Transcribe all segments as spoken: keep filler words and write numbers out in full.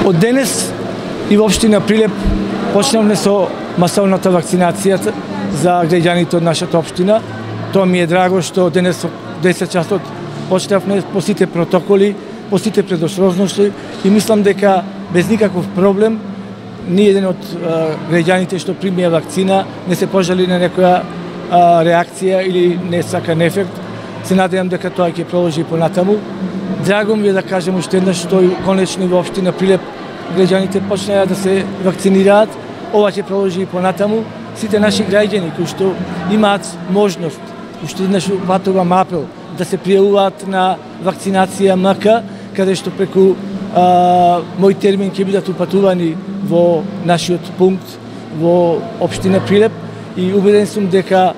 Од денес и во општина Прилеп почнавме со масовната вакцинација за граѓаните од нашата општина. Тоа ми е драго што денес во десет часот почнавме по сите протоколи, по сите предострожности и мислам дека без никаков проблем ни еден од граѓаните што примија вакцина не се пожали на некоја а, реакција или не сакан ефект. Се надевам дека тоа ќе продолжи понатаму. Драго ми е да кажем уште еднаш што конечно во општина Прилеп граѓаните почнаа да се вакцинираат. Ова ќе продолжи и понатаму. Сите наши граѓани кои што имаат можност, уште еднаш упатувам апел да се пријавуваат на вакцинација ем ка, каде што преку а, мој термин ќе бидат упатувани во нашиот пункт во општина Прилеп и убеден сум дека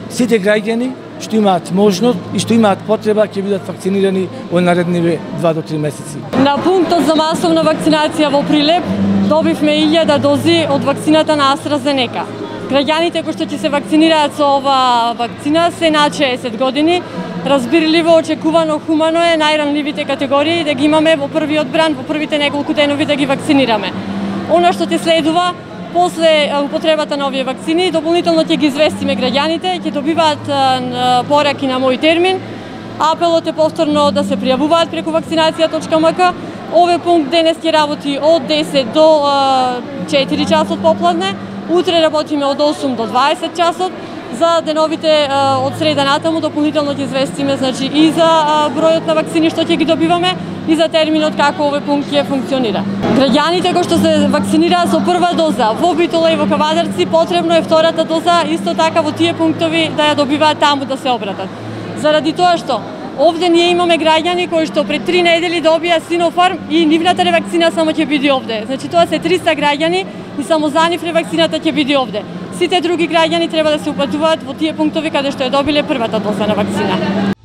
сите граѓани што имаат можност и што имаат потреба ќе бидат вакцинирани во наредниве два до три месеци. На пунктот за масовна вакцинација во Прилеп добивме илјада дози од вакцината на AstraZeneca. Граѓаните кои што ќе се вакцинираат со ова вакцина се над шеесет години. Разбирливо, очекувано, хумано е најранливите категории да ги имаме во првиот бран, во првите неколку денови да ги вакцинираме. Она што ќе следува после употребата на овие вакцини, дополнително ќе ги известиме граѓаните, ќе добиваат пораки на мој термин. Апелот е повторно да се пријавуваат преку вакцинација точка ем ка. Овој пункт денес ќе работи од десет до четири часот попладне. Утре работиме од осум до дваесет часот. За деновите од среда натаму дополнително ќе известиме значи и за бројот на вакцини што ќе ги добиваме и за терминот како овој пункт ќе функционира. Граѓаните кои што се вакцинираат со прва доза во Битола и во Кавадарци, потребно е втората доза исто така во тие пунктови да ја добиваат таму да се обратат. Заради тоа што овде ние имаме граѓани кои што пред три недели добија Синофарм и нивната ревакцина само ќе биде овде. Значи тоа се триста граѓани и само за нив ревакцината ќе биде овде. Сите други граѓани треба да се упатуваат во тие пунктови каде што ја добиле првата доза на вакцина.